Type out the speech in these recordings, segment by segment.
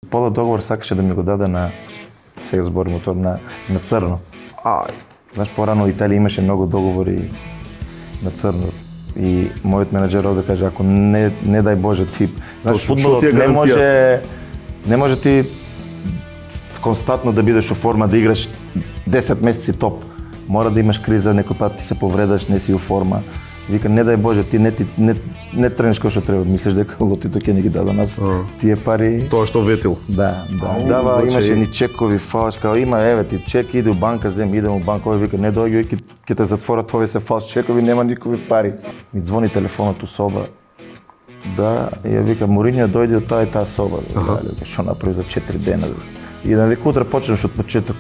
Пола договор сакаше да ми го даде на, сега зборим тоа, на црно. Знаеш, порано Италија имаше многу договори на црно. И мојот менаџер овде каже, ако не дај Боже ти, знаеш, фудбалот не може ти константно да бидеш во форма, да играш 10 месеци топ. Мора да имаш криза, некој пат ти се повредаш, не си у форма. Вика, не дај Боже, ти не тренеш како што треба, мислиш дека лотито ќе не ги даде нас тие пари. Тоа што ветил. Да. Дава, имаше ни чекови, фалш, као има, еве ти чек, иде у банка, идем у банка, овој вика, не доаѓај, ќе те затворат, овие се фалш чекови, нема никакви пари. Ми звони телефонот у соба. Да, и ја вика, Моринјо дојде од таа и таа соба. Што направи за 4 дена. И да вика, утре почнеш од почеток.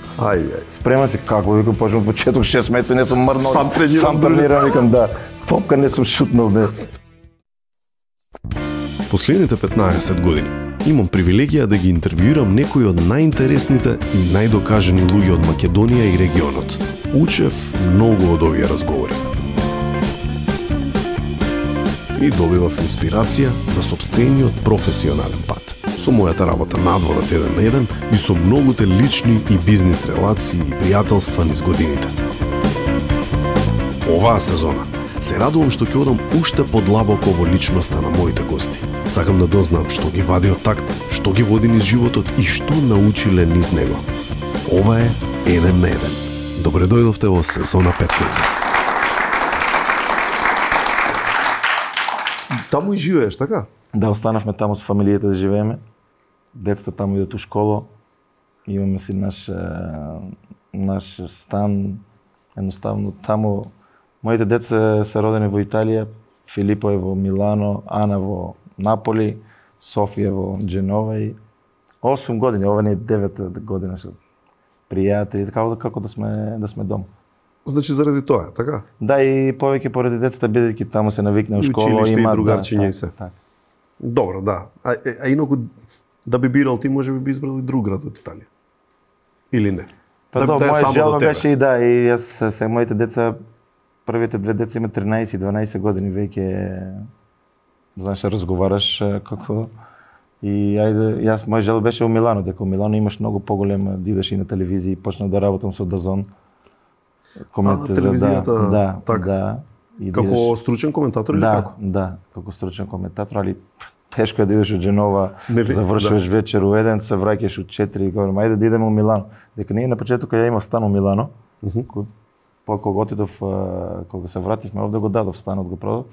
Спреман си, како викам, почнем од почеток, 6 месеци не сум мрнал. Сам тренирам, викам, да. Топка не сум шутнал, не. Последните 15 години имам привилегија да ги интервјуирам некои од најинтересните и најдокажани луѓе од Македонија и регионот. Учев многу од овие разговори. И добивав инспирација за сопствениот професионален пат. Со мојата работа надвор од 1 на 1 и со многуте лични и бизнис релации и пријателства низ годините. Оваа сезона се радувам што ќе одам уште подлабоко во личноста на моите гости. Сакам да дознам што ги вади од такт, што ги води низ животот и што научиле низ него. Ова е 1 на 1. Добре дојдовте во сезона 15. Таму и живееш, така? Да, останавме таму со фамилијата да живееме. Децата таму идат у школа. Имаме си наш стан. Едноставно таму моите деца се родени во Италија, Филипо е во Милано, Ана во Наполи, Софија во Дженова и 8 години, ова не е 9 година со пријатели, така како да сме дома. Значи заради тоа, така? Да, и повеќе поради децата, бидејќи таму се навикна у школа, има другарчиња и се. Так. Добро, да. А инаку да би бирал ти, може би избрал и друг град од Италија. Или не? Па да, моја желба беше и да, и јас се моите деца, првите 2 деца имаат 13 и 12 години, веќе знаеш, разговараш како и ајде, моја желба беше во Милано, дека во Милано имаш многу поголема, да идеш и на телевизија и почнав да работам со Дазон. Телевизијата, да. Како стручен коментатор или како? Да, како стручен коментатор, али тешко е да идеш од Дженова, завршуваш вечер у 1, се враќаш у 4 и говорам, ајде да идеме у Милано. Дека ние на почеток ја имав стан у Милано, кога отидов, кога се вративме овде го дадов станот, го продав,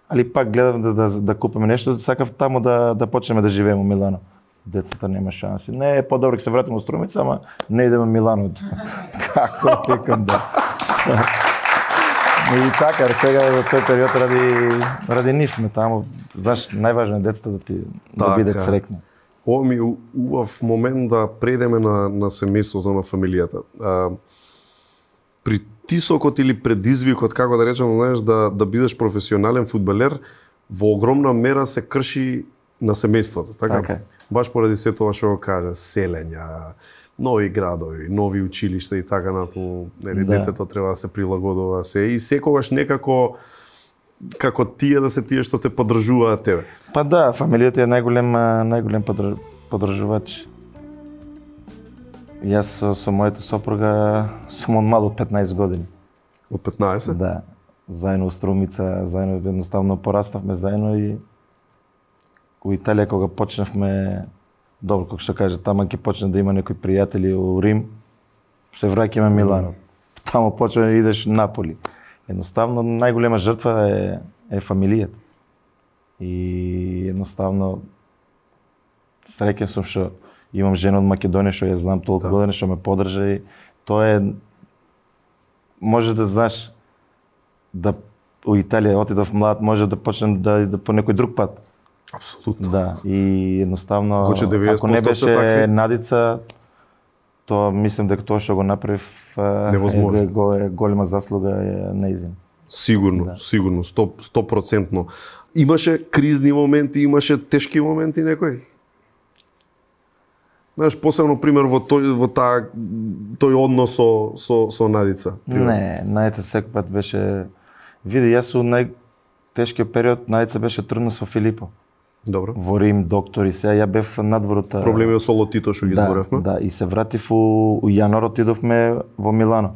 али пак гледав да купиме нешто, сакав таму да почнеме да живееме у Милано. Децата нема шанси. Не е по-добро ќе се вратиме у Струмица, ама не идеме у Милано. Како викам да. И така, сега во тој период ради нив сме таму. Знаеш, најважно е децата да бидат среќни. Ова ми е убав момент да предеме на семејството, на фамилијата. Притисокот или предизвикот, како да речем, знаеш, да бидеш професионален фудбалер, во огромна мера се крши на семејството, така? Баш поради се тоа што го кажа, селења, нови градови, нови училишта и така натаму, нели, детето треба да се прилагодува се и секогаш некако како тие да се тие што те поддржуваат тебе. Па да, фамилијата е најголем поддржувач. Јас со мојата сопруга сум од мал, од 15 години. Од 15? Да. Заедно у Струмица, заедно едноставно пораставме заедно и у Италија кога почнавме, добро, како што кажа, тама ќе почне да има некои пријатели у Рим, се враќаме Милано. Таму почне да идеш Наполи. Едноставно најголема жртва е фамилијата. И едноставно среќен сум што имам жена од Македонија што ја знам толку години, што ме поддржа и тоа е, може да знаеш да у Италија отидов млад, може да почнем да по некој друг пат. Апсолутно. Да, и едноставно ако не беше Надица, тоа мислам дека тоа што го направив е голема заслуга е нејзин. Сигурно, сигурно, 100%. Имаше кризни моменти, имаше тешки моменти некои? Знаеш, посебно пример во тој однос со Надица. Не, Надица секој пат беше, види, јас у најтешкиот период Надица беше трудна со Филипо. Добро. Во Рим, доктори, сега ја бев надворот. Проблеми со лотито што ги зборевме. Да, и се вратив у јануар, отидовме во Милано.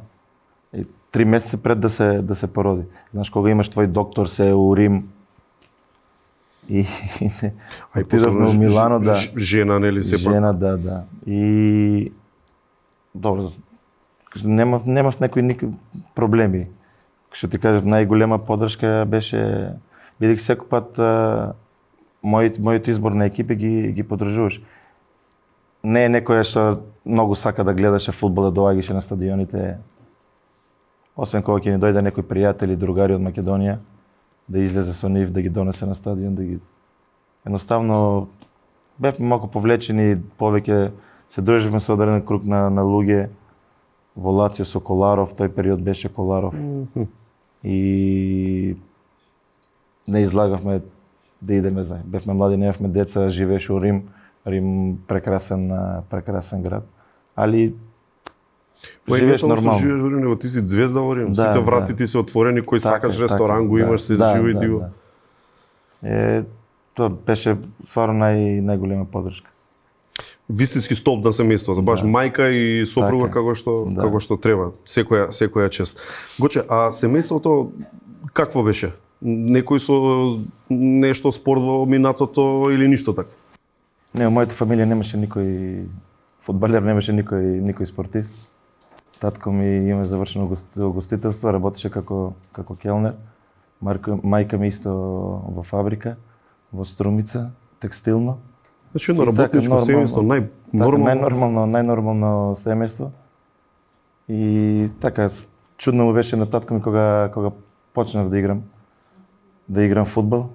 3 месеци пред да се породи. Знаеш, кога имаш твој доктор се у Рим и отидовме у Милано, да. Жена, нели се пак? Жена, да. И добро, немав некои проблеми. Што ти кажав, најголема поддршка беше, бидејќи секој пат мојот избор на екипи ги поддржуваш. Не е некоја што многу сака да гледаше фудбал, да доаѓаше на стадионите. Освен кога ќе ни дојде некои пријатели, другари од Македонија, да излезе со нив, да ги донесе на стадион, да ги... Едноставно, бевме малку повлечени, повеќе се дружевме со одреден круг на луѓе. Во Лацио со Коларов, тој период беше Коларов. И не излагавме да идеме заедно. Бевме млади, немавме деца, живееше у Рим. Рим прекрасен град. Али живееш нормално. Живееш во Рим, него ти си звезда во Рим. Сите врати ти се отворени, кој сакаш ресторан го имаш, се живи ти го. Тоа беше стварно најголема поддршка. Вистински столб на семејството, баш мајка и сопруга како што треба. Секоја чест. Гоче, а семејството какво беше? Некој со нешто спорт во минатото или ништо такво? Не, во мојата фамилија немаше никој фудбалер, немаше никој спортист. Татко ми има завршено гостителство, работеше како келнер. Мајка ми исто во фабрика, во Струмица, текстилно. Значи едно работничко семејство, најнормално семејство. И така, чудно му беше на татко ми кога почнав да играм фудбал.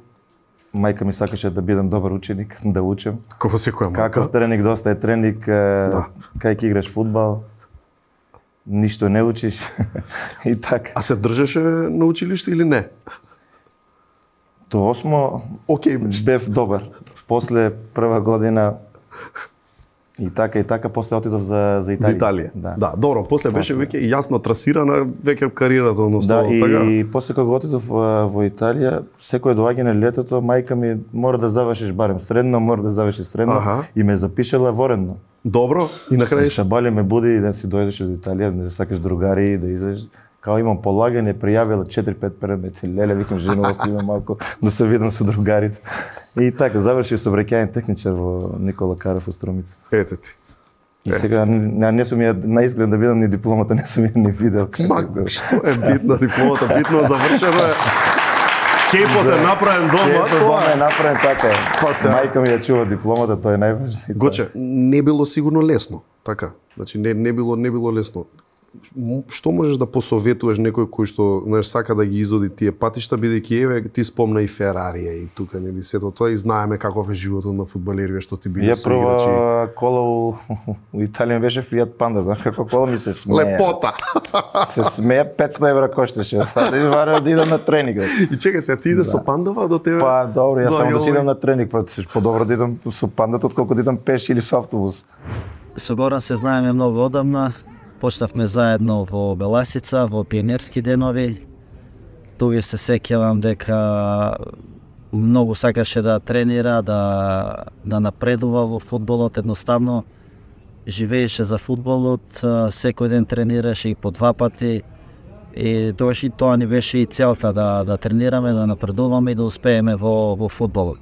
Мајка ми сакаше да бидам добар ученик, да учам. Како секоја мајка. Каков тренинг, доста е тренинг, кај ќе играш фудбал, ништо не учиш и така. А се држеше на училиште или не? До 8 бев добар. После прва година и така после отидов за Италија. За Италија. Да, добро, после беше веќе јасно трасирана веќе кариерата, односно така. И после кога отидов во Италија, секој доаѓање летото, мајка ми мора да завршиш барем средно, и ме запишала воредно. Добро, и на крај Шабале ме буди да си дојдеш од Италија, да сакаш другари, да излезеш. Као имам полагање, пријавила 4-5 предмети. Леле, викам, жена, остивам малку да се видам со другарите. И така, завршив сообраќајен техничар во Никола Каров во Струмица. Ете ти. И сега не сум ја наизглед да видам ни дипломата, не сум ја ни видел. Што е битно дипломата? Битно завршено е. Кејпот е направен дома, тоа е направен така. Мајка ми ја чува дипломата, тоа е најважно. Гоче, не било сигурно лесно, така. Значи не било лесно. Што можеш да посоветуваш некој кој што, знаеш, сака да ги изоди тие патишта, бидејќи еве ти спомна и Ферарија и тука нели сето тоа и знаеме каков е животот на фудбалерите што ти биле со играчи. Ја прва кола у Италија беше Fiat Panda, знаеш како кола ми се смее. Лепота. Се смее, 500 евра кошташе. Сади вара да идам на тренинг. И чекај се, ти идеш со пандава до тебе? Па добро, јас само да си идам на тренинг, подобро да идам со пандата отколку да идам пеш или со автобус. Со Горан се знаеме многу одамна. Почнавме заедно во Беласица, во пионерски денови. Туѓе се сеќавам дека многу сакаше да тренира, да напредува во фудбалот, едноставно живееше за фудбалот, секој ден тренираше и по 2 пати. И тоа ни беше и целта, да тренираме, да напредуваме и да успееме во фудбалот.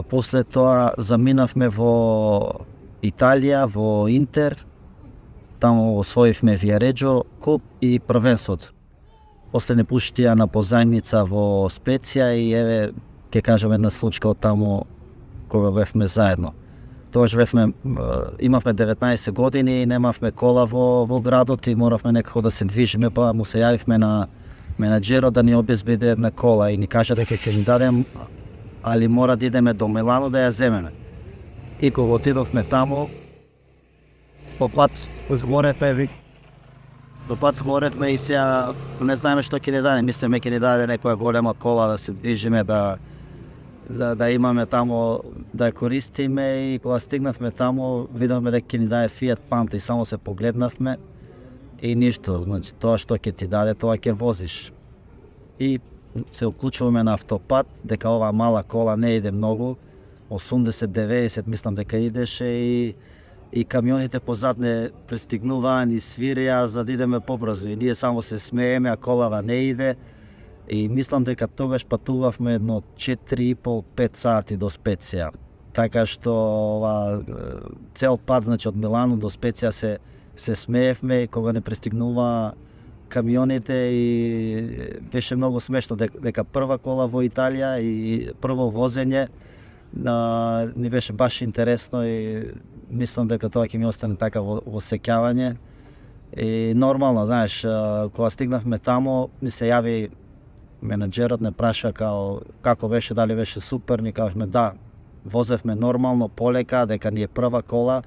После тоа заминавме во Италија, во Интер. Таму освоивме Виареджо куп и првенството. После не пуштија на позајмица во Специја и еве ќе кажам една случка од таму кога бевме заедно. Тогаш имавме 19 години и немавме кола во градот и моравме некако да се движиме, па му се јавивме на менаџерот да ни обезбеди една кола и ни кажа дека ќе ни дадем, али мора да идеме до Милано да ја земеме. И кога отидовме таму, по пат зборевме и сега не знаеме што ќе ни даде. Мислиме ќе ни даде некоја голема кола да се движиме, да имаме таму, да ја користиме и кога стигнавме таму, видовме дека ќе ни даде Fiat Panda и само се погледнавме и ништо, значи тоа што ќе ти даде, тоа ќе возиш. И се уклучуваме на автопат, дека оваа мала кола не иде многу, 80-90 мислам дека идеше и камионите позад не пристигнуваа, ни свирија за да идеме побрзо и ние само се смееме, а колава не иде. И мислам дека тогаш патувавме едно 4,5-5 сати до Специја. Така што цел пат, значи од Милано до Специја се смеевме кога не пристигнува камионите и беше многу смешно дека прва кола во Италија и прво возење ни беше баш интересно и мислам дека тоа ќе ми остане така во сеќавање. И нормално, знаеш, кога стигнавме тамо, ми се јави менаџерот, не праша како беше, дали беше супер, ни кажавме да, возевме нормално, полека, дека ни е прва кола,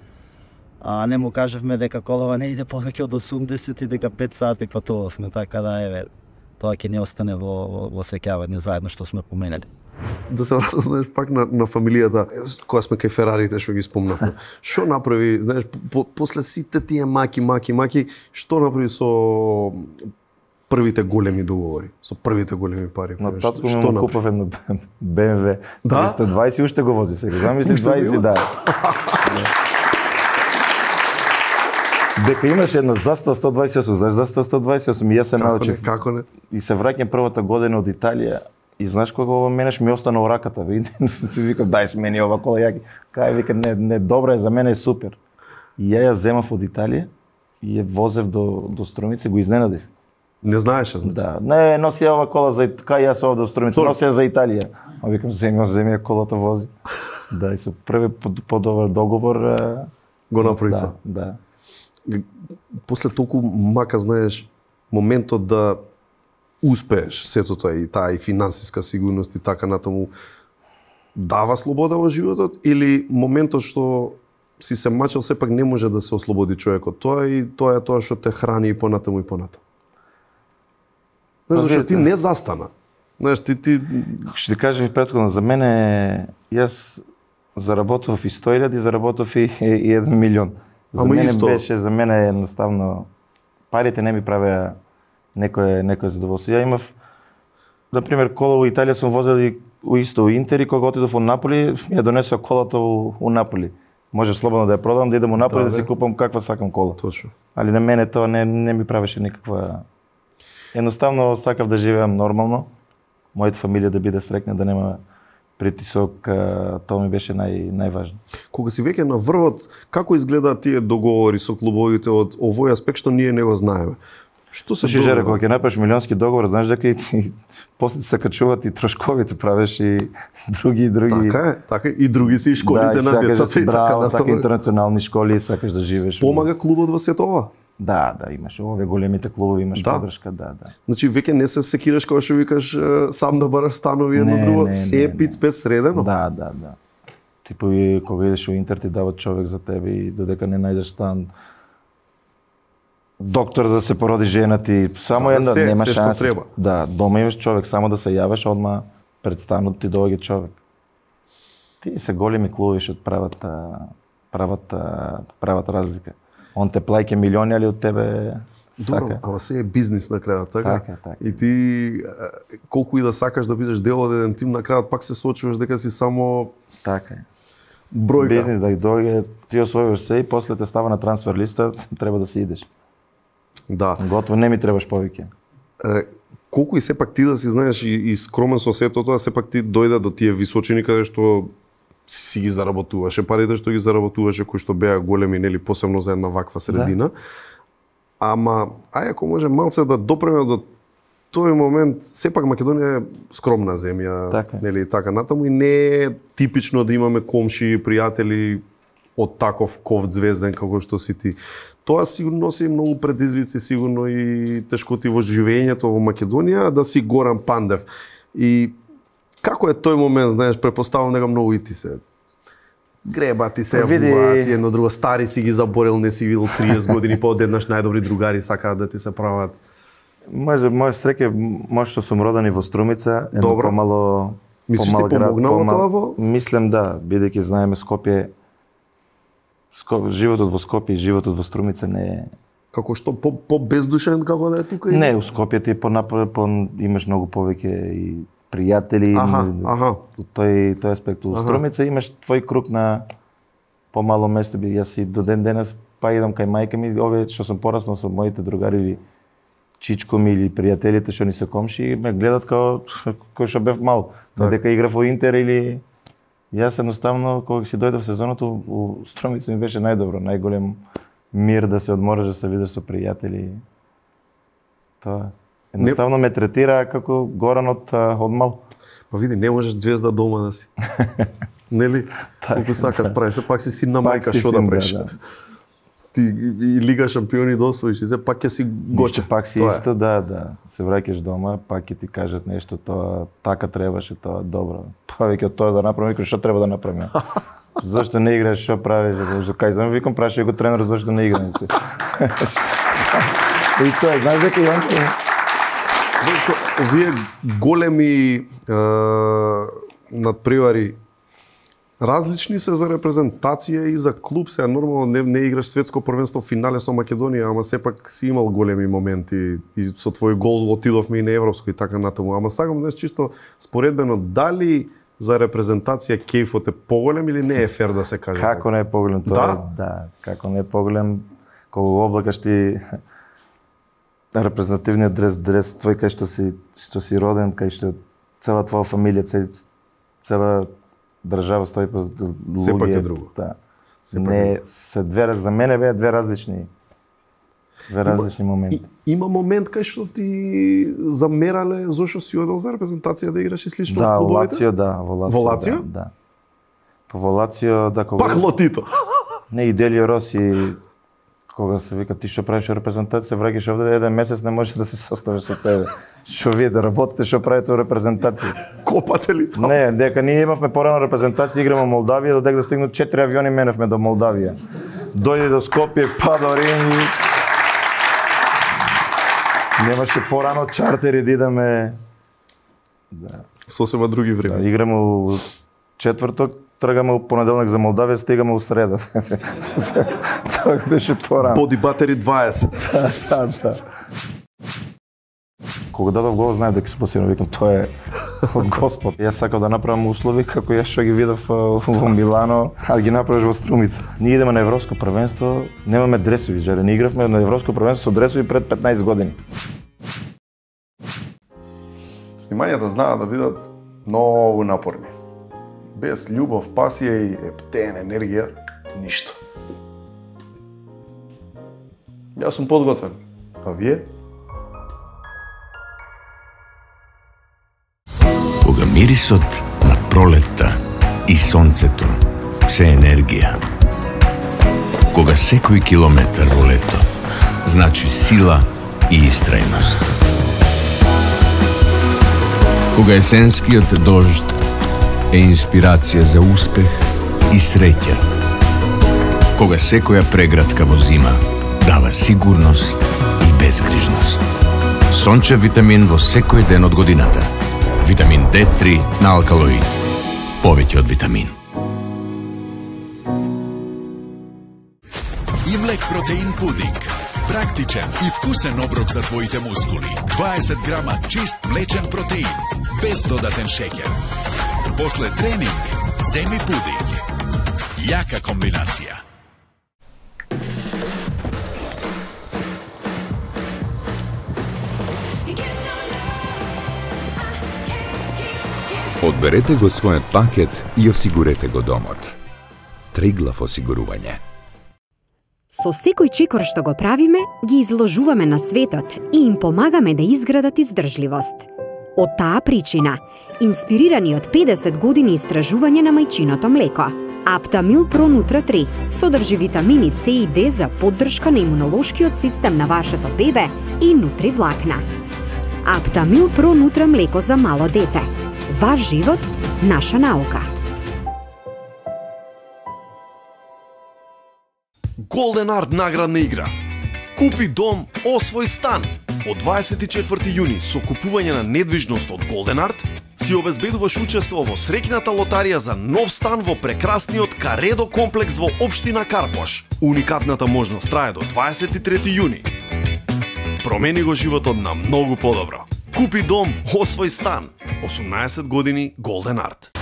а не му кажавме дека колава не иде повеќе од 80 и дека 5 сати патувавме, така да еве, тоа ќе ни остане во сеќавање заедно што сме поменали. Да се вратам, знаеш, пак на фамилијата, кога сме кај Ферарите што ги спомнавме. Што направи, знаеш, после сите тие маки, што направи со првите големи договори, со првите големи пари? На татко му купав едно BMW 320 и уште го вози сега. Замисли 20, да. Дека имаше една застава 128, знаеш, застава 128 и јас се научив. Како не? И се враќам првата година од Италија и знаеш кога ова менеш ми остана во раката. Викам дај смени ова кола јаки. Кај вика не добра е, за мене е супер. И ја земав од Италија и ја возев до Струмица, го изненадив. Не знаеше, значи. Да, не носи ова кола за кај јас овде до Струмица, носи за Италија. А викам земи колата вози. Да, и со први подобар договор го направи тоа. Да. После толку мака, знаеш, моментот да успееш сето тоа и таа и финансиска сигурност и така натаму дава слобода во животот или моментот што си се мачал сепак не може да се ослободи човекот тоа и тоа е тоа што те храни и понатаму и понатаму. Знаеш, зашто ти не застана. Знаеш, ти Што ти кажам и претходно, за мене јас заработав и 100.000 и заработав и 1 милион. За мене едноставно парите не ми правеа некој задоволство. Ја имав, например, кола во Италија сум возел и исто Интер и кога отидов во Наполи, ми ја донесоа колата у Наполи. Може слободно да ја продам, да идам у Наполи да си купам каква сакам кола. Точно. Али на мене тоа не ми правеше никаква. Едноставно сакав да живеам нормално, мојата фамилија да биде среќна, да нема притисок, тоа ми беше најважно. Кога си веќе на врвот, како изгледаат тие договори со клубовите од овој аспект што ние не го знаеме? Што се Жере, кога ќе направиш милионски договор, знаеш дека и после се качуваат и трошковите, правиш и други. Така и други си и школите на децата и така натаму. Така интернационални школи, сакаш да живееш. Помага клубот во сето ова? Да, имаш овие големите клубови, имаш подршка, да. Значи веќе не се секираш кога што викаш сам да бараш станови едно друго, се пиц-пес средено? Да. Типо и кога идеш во Интер ти дават човек за тебе и додека не најдеш стан, доктор да се породи жена ти, само една нема шанс. Да, дома имаш човек, само да се јавиш, одма пред станот ти доаѓа човек. Ти се големи клубови што прават разлика. Он те плаќа милиони, али од тебе сака. Ама се е бизнис на крајот, така? Така. И ти колку и да сакаш да бидеш дел од еден тим, на крајот пак се соочуваш дека си само така е. Бројка. Бизнис да дојде, ти освојуваш се и после те става на трансфер листа, треба да си идеш. Да. Готово, не ми требаш повеќе. Колку и сепак ти да си знаеш и скромен со сето тоа, сепак ти дојде до тие височини каде што си ги заработуваше парите што ги заработуваше, кои што беа големи, нели, посебно за една ваква средина. Да. Ама, ако може малце да допреме до тој момент, сепак Македонија е скромна земја, така. Нели, така натаму и не е типично да имаме комши, пријатели од таков ковд звезден како што си ти. Тоа сигурно носи многу предизвици, сигурно и тешкоти во живењето во Македонија, да си Горан Пандев. И како е тој момент, знаеш, препоставам дека многу и ти се греба, ти се јавуваат, ти едно друго, стари си ги заборел, не си видел 30 години, па одеднаш најдобри другари сакаат да ти се прават. Може среќа, може што сум роден и во Струмица, едно помало Мислиш ти помогнало тоа во? Мислам да, бидејќи знаеме Скопје, животот во Скопје и животот во Струмица не е Како што по бездушен како да е тука? Не, у Скопје ти имаш многу повеќе и пријатели. Тој аспект. У Струмица имаш твој круг на помало место. Јас и до ден денес па идам кај мајка ми, овие што сум пораснал со моите другари или чичко ми или пријателите што ни се комши, ме гледат кој што бев мал. Дека играв во Интер или јас едноставно кога си дојдов сезоната у Струмица ми беше најдобро, најголем мир да се одмориш, да се видиш со пријатели. Тоа едноставно ме третира како Горан од мал. Па види, не можеш звезда дома да си. Нели? Колку сакаш прави, се пак си син на мајка, што да правиш? Ти и Лига шампиони досвоиш, и се пак ќе си гоче. Пак си исто, да. Се враќаш дома, пак ќе ти кажат нешто, тоа така требаше, тоа добро. Повеќе од тоа да направам, викам што треба да направам. Зошто не играш, што правиш? Кај знам, викам прашај го тренер зошто не играм. И тоа, знаеш дека и он овие големи надпревари различни се за репрезентација и за клуб, сега нормално не играш светско првенство финале со Македонија, ама сепак си имал големи моменти и со твој гол отидовме и на европско и така натаму. Ама сакам да чисто споредбено дали за репрезентација кејфот е поголем или не е фер да се каже? Како не е поголем тоа? Да, како не е поголем кога го облакаш ти репрезентативниот дрес твој кај што си роден, кај што цела твоја фамилија, цела држава стои по луѓе. Сепак е друго. Да. Не се за мене беа две различни моменти. Има момент кај што ти замерале зошто си одел за репрезентација да играш и слично од клубовите? Во Лацио, да. По Лацио, да, кога... Пак Лотито! Не, и Делио Роси, кога се вика ти што правиш репрезентација, враќаш овде еден месец не можеш да се составиш со тебе. Што вие да работите, што правите во репрезентација? Копате ли тоа? Не, дека ние имавме порано репрезентација, играме во Молдавија, додека да стигнат 4 авиони меневме до Молдавија. Дојде до Скопје, па до Рим. Немаше порано чартери да идеме. Да. Сосема други време. Да, играме у четврток, тргаме у понеделник за Молдавија, стигаме у среда. Тоа беше порано. Боди батери 20. Да. Кога дадов гол, знаев дека се посилно, викам, тоа е од Господ. Јас сакав да направам услови како јас што ги видов во Милано, а ги направиш во Струмица. Ние идеме на европско првенство, немаме дресови, жаре, не игравме на европско првенство со дресови пред 15 години. Снимањата знаат да бидат многу напорни. Без љубов, пасија и ептен енергија, ништо. Јас сум подготвен, а вие? Кога мирисот на пролетта и сонцето се енергија. Кога секој километар во лето значи сила и истрајност. Кога есенскиот дожд е инспирација за успех и среќа. Кога секоја преградка во зима дава сигурност и безгрижност. Сончев витамин во секој ден од годината. Витамин D3 на алкалоид. Повеќе од витамин. Имлек протеин пудинг. Практичен и вкусен оброк за твоите мускули. 20 грама чист млечен протеин, без додатен шеќер. После тренинг, земи пудинг. Јака комбинација. Одберете го својот пакет и осигурете го домот. Триглав осигурување. Со секој чекор што го правиме, ги изложуваме на светот и им помагаме да изградат издржливост. Од таа причина, инспирирани од 50 години истражување на мајчиното млеко, Аптамил Про Нутра 3 содржи витамини С и Д за поддршка на имунолошкиот систем на вашето бебе и нутри влакна. Аптамил Про Нутра млеко за мало дете. Ваш живот, наша наука. Golden Art наградна игра. Купи дом, освој стан. Од 24 јуни со купување на недвижност од Golden Art, си обезбедуваш учество во среќната лотарија за нов стан во прекрасниот Каредо комплекс во општина Карпош. Уникатната можност трае до 23 јуни. Промени го животот на многу подобро. Купи дом, освој стан. 18 години Golden Art.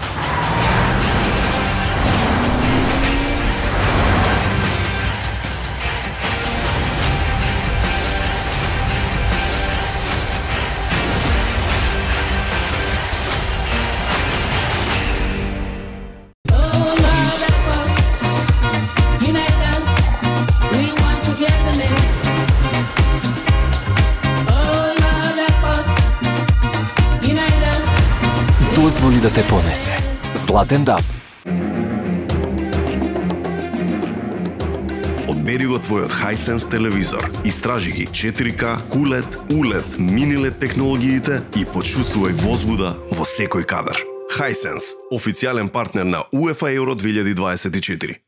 Дозволи да те понесе. Златен даб. Одбери го твојот Hisense телевизор. Истражи ги 4K, QLED, ULED, MiniLED технологиите и почувствувај возбуда во секој кадар. Hisense, официјален партнер на UEFA Euro 2024.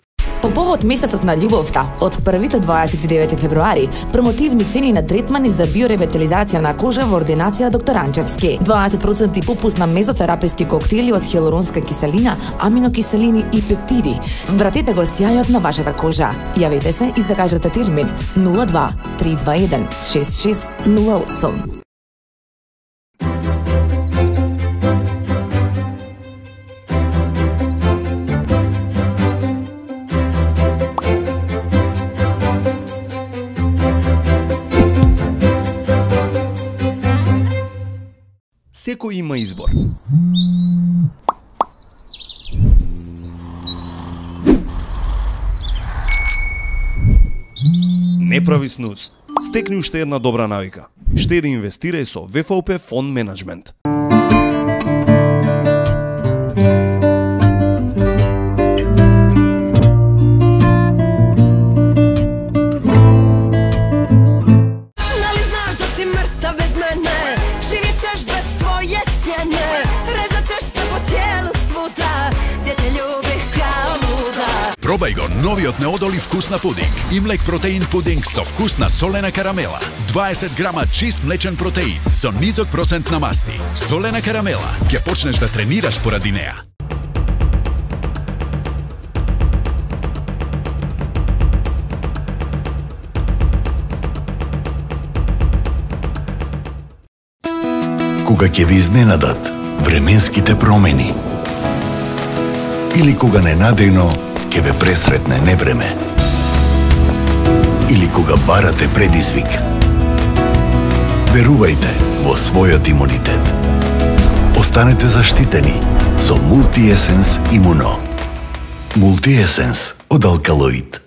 По повод месецот на љубовта, од 1 до 29 февруари, промотивни цени на третмани за биоревитализација на кожа во ординација доктор Анчевски. 20% попуст на мезотераписки коктели од хиалуронска киселина, аминокиселини и пептиди. Вратете го сјајот на вашата кожа. Јавете се и закажете термин 02 321 6608. Секој има избор. Не прави снуз. Стекни уште една добра навика. Штеди, инвестирај со ВФОП Фонд Менеджмент. Пробај го новиот неодолив вкус на пудинг. Имлек протеин пудинг со вкус на солена карамела. 20 грама чист млечен протеин со низок процент на масти. Солена карамела, ќе почнеш да тренираш поради неа. Кога ќе ви изненадат временските промени или кога ненадејно ќе ве пресретне невреме или кога барате предизвик, верувајте во својот имунитет. Останете заштитени со Multi-Essence Immuno. Multi-Essence од Алкалоид.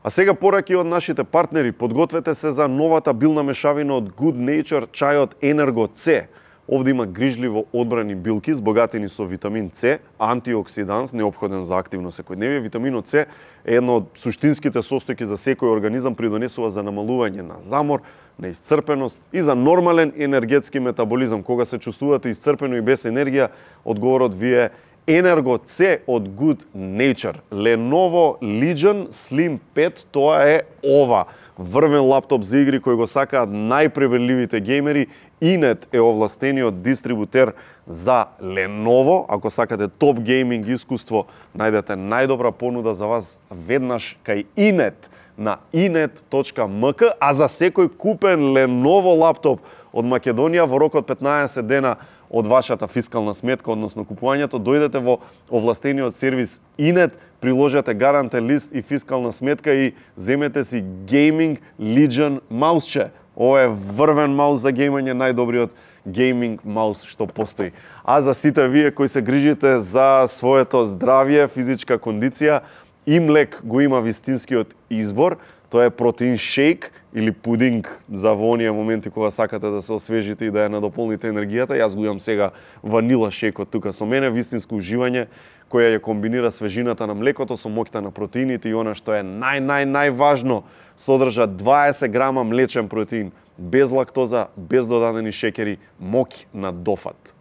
А сега пораки од нашите партнери. Подгответе се за новата билна мешавина од Good Nature, чајот Energo C. Овде има грижливо одбрани билки, збогатени со витамин С, антиоксиданс, неопходен за активно секојдневие. Витаминот С е едно од суштинските состојки за секој организам, придонесува за намалување на замор, на исцрпеност и за нормален енергетски метаболизам. Кога се чувствувате исцрпено и без енергија, одговорот ви е Energo C од Good Nature. Lenovo Legion Slim 5, тоа е ова. Врвен лаптоп за игри кој го сакаат најпребарливите геймери. Inet е овластениот дистрибутер за Lenovo. Ако сакате топ гейминг искуство, најдете најдобра понуда за вас веднаш кај Inet на inet.mk, а за секој купен Lenovo лаптоп од Македонија во рок од 15 дена од вашата фискална сметка, односно купувањето, дојдете во овластениот сервис Inet, приложете гарантен лист и фискална сметка и земете си Gaming Legion маусче. Ова е врвен маус за геймање, најдобриот гейминг маус што постои. А за сите вие кои се грижите за своето здравје, физичка кондиција, Имлек го има вистинскиот избор. Тоа е протеин шейк или пудинг за во оние моменти кога сакате да се освежите и да ја надополните енергијата. Јас го имам сега ванила шейкот тука со мене, вистинско уживање која ја комбинира свежината на млекото со моќта на протеините и она што е најважно, содржа 20 грама млечен протеин, без лактоза, без додадени шекери, моќ на дофат.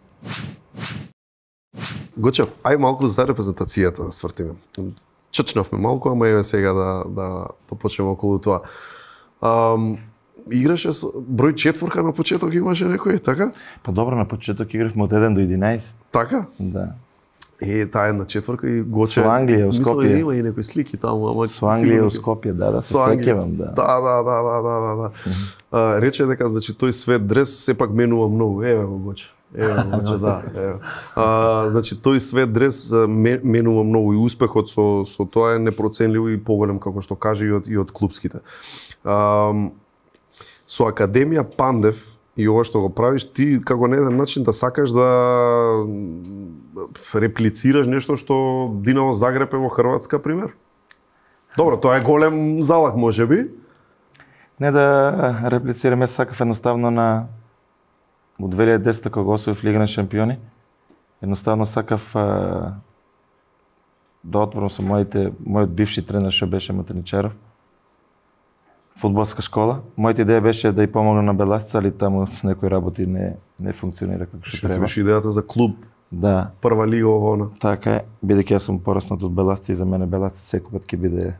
Гоче, ај малку за репрезентацијата да свртиме. Чачнавме малку, ама еве сега да почнеме околу тоа. играше со број 4 на почеток имаше некој, така? Па добро, на почеток игравме од 1 до 11. Така? Да. Таа една 4 и Гоче. Со Англија у Скопје. Мислам има и некои слики таму, ама со Англија у Скопје, да, се сеќавам, да. Да. Рече дека значи тој свет дрес сепак менува многу. Еве го Гоче. Гоче, да. Значи тој свет дрес менува многу и успехот со тоа е непроценливо и поголем како што каже и од клупските. Со Академија Пандев и ова што го правиш, ти како на еден начин да сакаш да реплицираш нешто што Динамо Загреб е во Хрватска, пример? Добро, тоа е голем залог, можеби. Не да реплицираме, сакав едноставно на во 2010 кога освоив Лига на шампиони. Едноставно сакав да отворам со мојот бивши тренер што беше Матеничаров. Фудбалска школа. Мојата идеја беше да ја помогнам на Беласица, али таму некои работи не функционира како што треба. Беше идејата за клуб. Да. Прва лига овона. Така е, бидејќи јас сум пораснат од Беласица и за мене Беласица секој пат ќе биде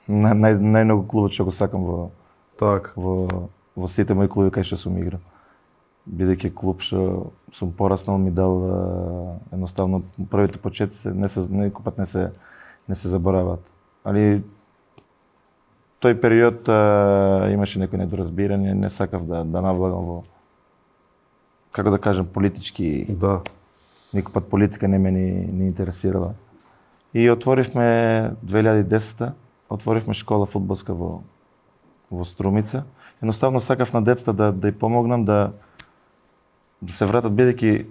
најмногу клубот што го сакам во сите мои клуби кај што сум играл. Бидејќи клуб што сум пораснал ми дал едноставно првите почетоци некој пат не се забораваат. Али тој период имаше некои недоразбирање, не сакав да навлагам во, како да кажем, политички. Да. Никој пат политика не ме ни интересирала. И отворивме 2010-та, отворивме школа фудбалска во Струмица. Едноставно сакав на децата да ја помогнам да се вратат, бидејќи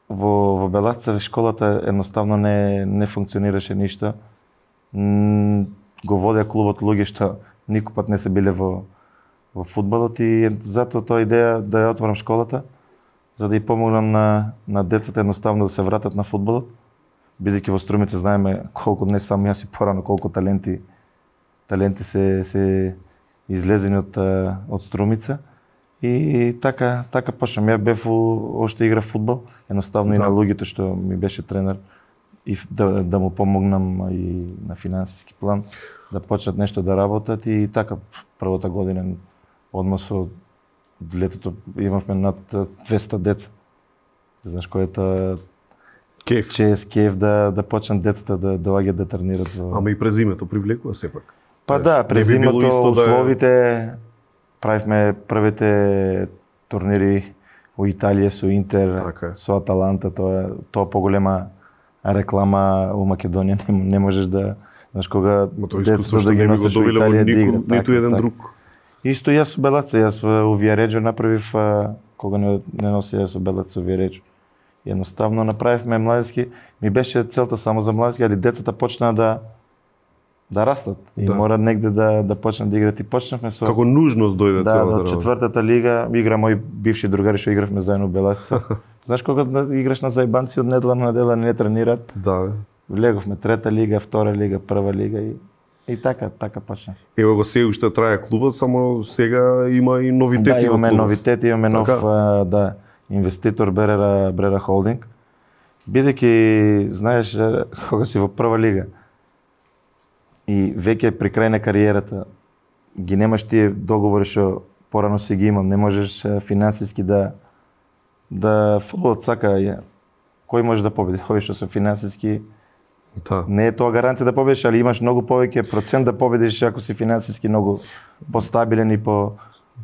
во Беласица школата едноставно не функционираше ништо. Го водеа клубот луѓе што никој пат не се биле во фудбалот и затоа тоа идеја да ја отворам школата, за да ја помогнам на децата едноставно да се вратат на фудбалот, бидејќи во Струмица знаеме колку, не само јас и порано, колку таленти се излезени од Струмица. И така почнам. Ја бев уште игра фудбал, едноставно и на луѓето што ми беше тренер и да му помогнам и на финансиски план, да почнат нешто да работат и така првата година одма со летото имавме над 200 деца. Знаеш кој е тоа кеф да почнат децата да доаѓаат да тренират. Ама и през зимето привлекува сепак. Па да, през зимото условите правивме првите турнири во Италија со Интер, со Аталанта, тоа поголема реклама у Македонија не можеш да, знаеш, кога децата да ги носиш во Италија да играт. Ниту еден друг. Исто јас со Белаца, јас у Виареџо направив, кога не носи јас со Белаца у Виареџо. Едноставно направивме младински, ми беше целта само за младински, али децата почнаа да растат и мора негде да почнат да играат и почнавме со како нужност дојде целата работа. Да, четвртата лига игра мој бивши другари што игравме заедно во Беласица. Знаеш кога играш на заебанци од недела на недела не тренираат? Да. Влеговме трета лига, втора лига, прва лига и така почна. Ево го се уште трае клубот, само сега има и новитети во клубот. Имаме новитети, имаме нов инвеститор Брера Холдинг. Бидејќи знаеш кога си во прва лига и веќе при крај на кариерата ги немаш тие договори што порано си ги имам, не можеш финансиски да фудбалот сака кој може да победи, кој што се финансиски. Не е тоа гаранција да победиш, али имаш многу повеќе процент да победиш ако си финансиски многу постабилен и по.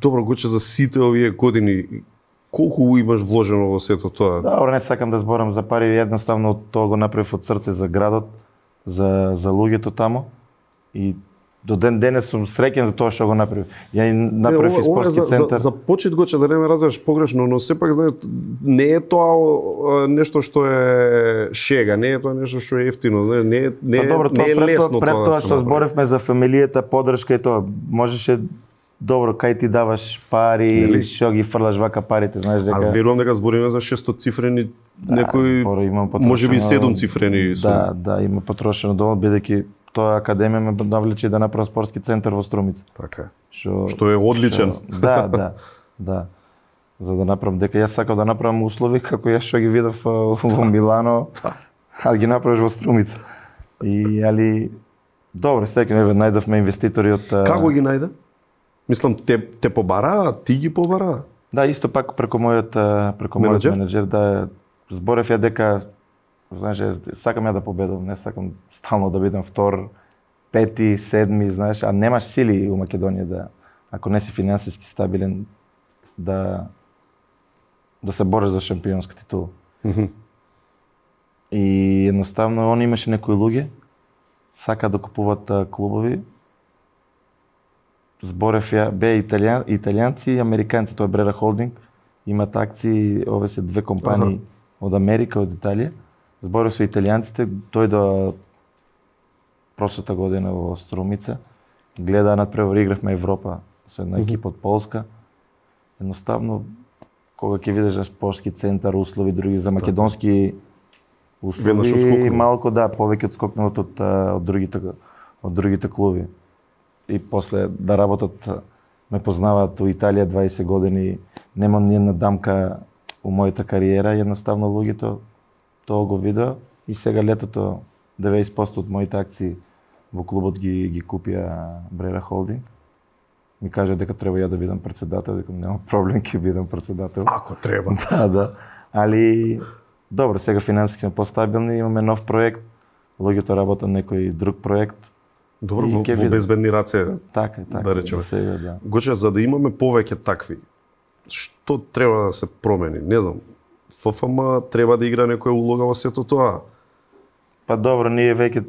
Добро, Гоче, за сите овие години колку имаш вложено во сето тоа? Добро, не сакам да зборам за пари, едноставно тоа го направив од срце за градот, за луѓето таму. И до ден денес сум среќен за тоа што го направив. Ја направив и спортски центар. За почет, Гоче, да не ме разбереш погрешно, но сепак знаеш, не е тоа нешто што е шега, не е тоа нешто што е ефтино, не е лесно тоа. Пред тоа што зборевме за фамилијата, поддршка и тоа, можеше добро кај ти даваш пари, што ги фрлаш вака парите, знаеш дека. А верувам дека збориме за 600 цифрени, некои можеби 7 цифрени суми. Да, има потрошено доволно, бидејќи тоа академија ме навлече да направам спортски центар во Струмица. Така е. Што е одличен. Да. За да направам, дека јас сакав да направам услови како јас што ги видов во Милано, а ги направиш во Струмица. Али добро, најдовме инвеститори од. Како ги најде? Мислам, те побараа, ти ги побараа? Да, исто пак преку мојот менеджер, да, зборев ја дека, знаеш, сакам ја да победам, не сакам стално да бидам втор, пети, седми, знаеш, а немаш сили у Македонија да, ако не си финансиски стабилен, да се бориш за шампионска титула. И едноставно, он имаше некои луѓе, сака да купуват клубови. Зборев ја, бе италијанци и американци, тоа е Брера Холдинг, имат акции, ове се две компании од Америка, од Италија. Зборев со италијанците, дојде прошлата година во Струмица, гледа надпревар, игравме Европа со една екипа од Полска. Едноставно, кога ќе видиш спортски центар, услови други за македонски услови, малку да, повеќе одскокнуват од другите клуби. И после да работат, ме познаваат у Италија 20 години, немам ни една дамка у мојата кариера, едноставно луѓето тоа го видеа и сега летото 90% од моите акции во клубот ги купија Брера Холдинг. Ми кажа дека треба ја да бидам председател, дека нема проблем, ќе бидам председател. Ако треба. Да. Али добро, сега финансиски сме постабилни, имаме нов проект, луѓето работат некој друг проект. Добро, во безбедни раце, така, да речеме. Сега, да. Гоче, за да имаме повеќе такви, што треба да се промени? Не знам, ФФМ треба да игра некоја улога во сето тоа? Па добро, ние веќе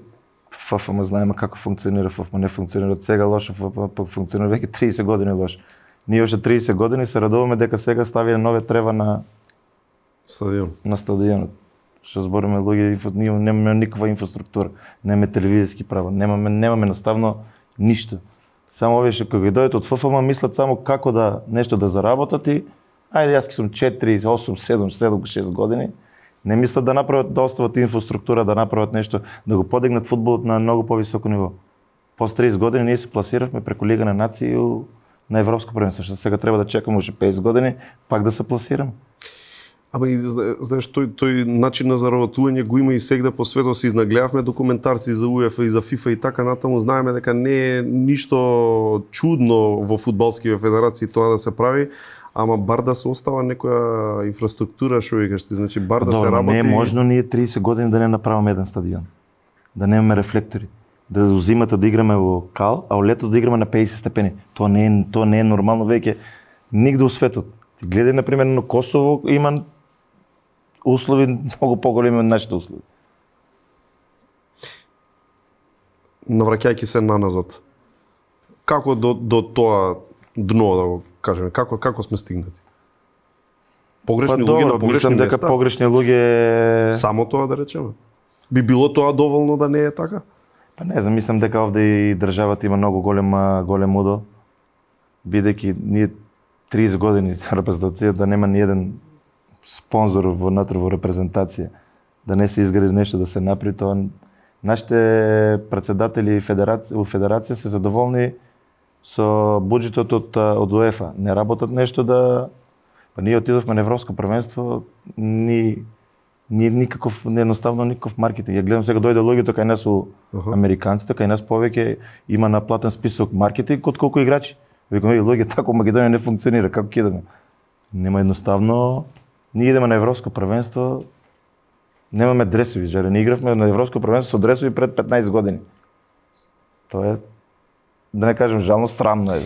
ФФМ знаеме како функционира, ФФМ не функционира сега лошо, ФФМ функционира веќе 30 години лошо. Ние уште 30 години се радуваме дека сега ставија нове трева на стадионот. Што збориме луѓе, ние немаме никаква инфраструктура, немаме телевизиски права, немаме наставно ништо. Само овие што кога дојдат од ФФМ мислат само како да нешто да заработат и ајде јас сум 4, 8, 7, 6 години. Не мислат да направат, да остават инфраструктура, да направат нешто, да го подигнат фудбалот на многу повисоко ниво. После 30 години ние се пласиравме преку Лига на нации на европско првенство, што сега треба да чекаме уште 50 години пак да се пласираме. Ама и знаеш, тој начин на заработување го има и сегде по светот, се изнагледавме документарци за УЕФА и за ФИФА и така натаму, знаеме дека не е ништо чудно во фудбалските федерации тоа да се прави, ама бар да се остава некоја инфраструктура, што викаш ти, значи бар да се работи. Не е можно ние 30 години да не направиме еден стадион, да немаме рефлектори, да зимата да играме во кал, а во лето да играме на 50 степени. Тоа не е нормално веќе нигде во светот. Ти гледај на пример на Косово, има услови многу поголеми од нашите услови. Навраќајќи се наназад, како до тоа дно, да го кажеме, како сме стигнати? Погрешни луѓе на погрешни места? Дека погрешни луѓе... Само тоа да речеме? Би било тоа доволно да не е така? Па не знам, мислам дека овде и државата има многу голем удел, бидејќи ние 30 години репрезентација да нема ни еден спонзор внатре во репрезентација, да не се изгради нешто, да се направи тоа. Нашите претседатели во федерација се задоволни со буџетот од УЕФА. Не работат нешто да... Па ние отидовме на европско првенство, никаков, едноставно никаков маркетинг. Ја гледам сега дојде луѓето кај нас у американците, кај нас повеќе има наплатен список маркетинг од колку играчи. Викам, луѓе, тако Македонија не функционира, како ќе идеме? Нема едноставно. Ние идеме на европско првенство, немаме дресови, жаре не игравме на европско првенство со дресови пред 15 години. Тоа е, да не кажем жално, срамно е.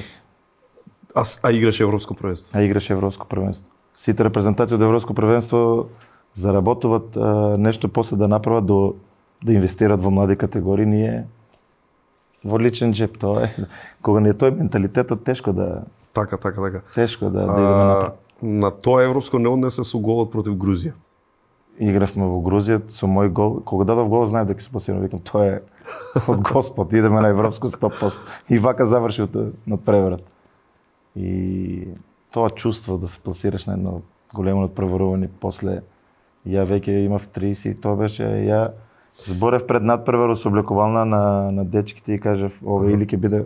А играше европско првенство? А играше европско првенство. Сите репрезентации од европско првенство заработуваат нешто после да направат да инвестират во млади категории, ние во личен джеп, тоа е. Кога не е тој менталитетот, тешко да... Така. Тешко да идеме напред. На тоа европско не однесе со голот против Грузија. Игравме во Грузија со мој гол. Кога дадов гол, знаев дека се пласирам, викам тоа е од Господ, идеме на европско 100%. И вака заврши надпреварот. И тоа чувство да се пласираш на едно големо надпреварување после ја веќе имав 30, тоа беше ја зборев пред надпревар со облекувална на дечките и кажав ова или ќе биде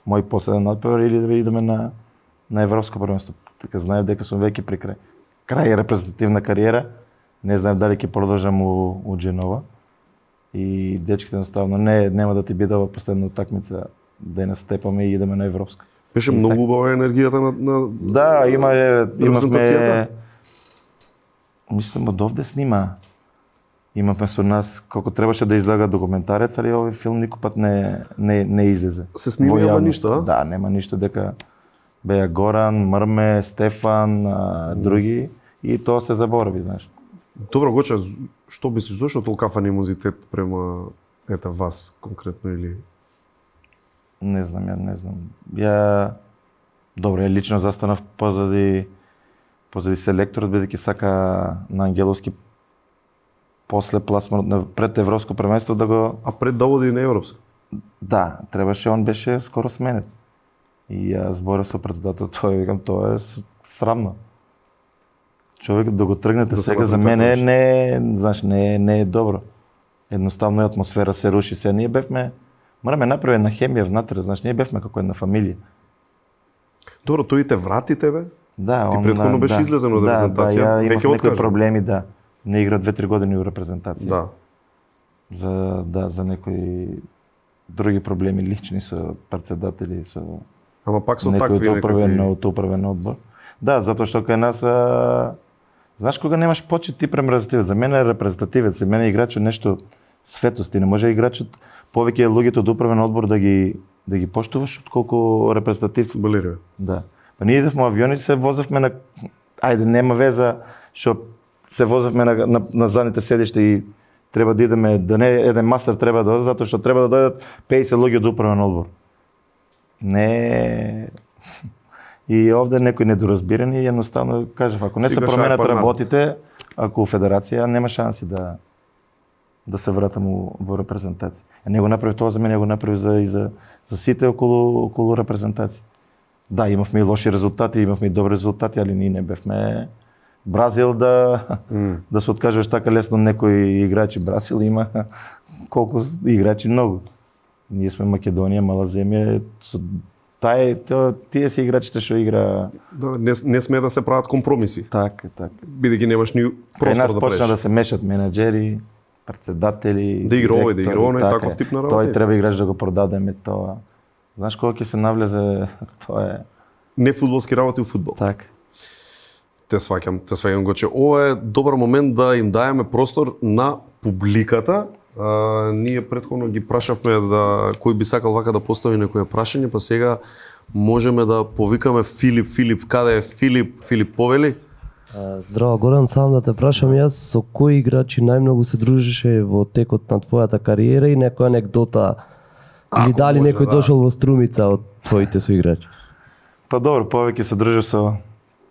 мој последен надпревар или да идеме на европско првенство. Така знаев дека сум веќе при крај репрезентативна кариера. Не знаев дали ќе продолжам у Дженова. И дечките едноставно нема да ти биде ова последна утакмица да ја настепаме и идеме на европска. Беше многу убава енергијата на Да, имавме мислам од овде снима. Имавме со нас колку требаше да излага документарец, али овој филм никој пат не излезе. Се снима нема ништо, а? Да, нема ништо, дека беа Горан, Мрме, Стефан, други и тоа се заборави, знаеш. Добро, Гоча, што мислиш, зошто толкав анимозитет према вас конкретно или Не знам. Ја добро, ја лично застанав позади селекторот, бидејќи сака на Ангеловски после пласманот пред европско првенство да го... А пред да оди на европско? Да, требаше, он беше скоро сменет. И ја зборев со председател, викам, тоа е срамно. Човек да го тргнете сега за мене не е добро. Едноставно атмосфера се руши. Сега ние бевме, мораме направи една хемија внатре, знаеш, ние бевме како една фамилија. Добро, тој те врати тебе? Да, ти претходно беше излезен од репрезентација, веќе откажа. Некои проблеми, да. Не игра 2-3 години у репрезентација. Да. За некои други проблеми лични со председатели, со Ама пак со такви управен одбор. Да, затоа што кај нас знаеш кога немаш почит ти према репрезентативец. За мене е репрезентативец, за мене е играчот нешто светост. Ти не може играчот повеќе луѓето од управен одбор да ги поштуваш отколку репрезентатив фудбалери. Да. Па ние идевме авиони, се возевме на нема веза што се возевме на задните седишта и треба да идеме, да не еден мастер треба да дојде, затоа што треба да дојдат 50 луѓе од управен одбор. Не. И овде некои недоразбирани и едноставно кажав, ако не се променат работите, ако федерација нема шанси да се вратам во репрезентација. Не го направи тоа за мене, го направи за сите околу репрезентација. Да, имавме и лоши резултати, имавме и добри резултати, али ние не бевме Бразил да се откажеш така лесно некои играчи. Бразил има колку играчи многу. Ние сме Македонија, мала земја, тие се играчите што игра. Да, не сме да се прават компромиси. Така. Бидејќи немаш ни простор да правиш. Почна да се мешат менаџери, председатели, да игра овој, да игра оној, таков тип на работа. Тој треба играч да го продадеме тоа. Знаеш кога ќе се навлезе, тоа е не фудбалски работи у фудбал. Така. Те сваќам го, че ова е добар момент да им даеме простор на публиката. Ние претходно ги прашавме да кој би сакал вака да постави некое прашање, па сега можеме да повикаме Филип, каде е Филип повели? Здраво Горан, сам да те прашам јас, со кои играчи најмногу се дружеше во текот на твојата кариера и некоја анегдота или дали некој дошол во Струмица од твоите соиграчи? Па добро, повеќе се дружев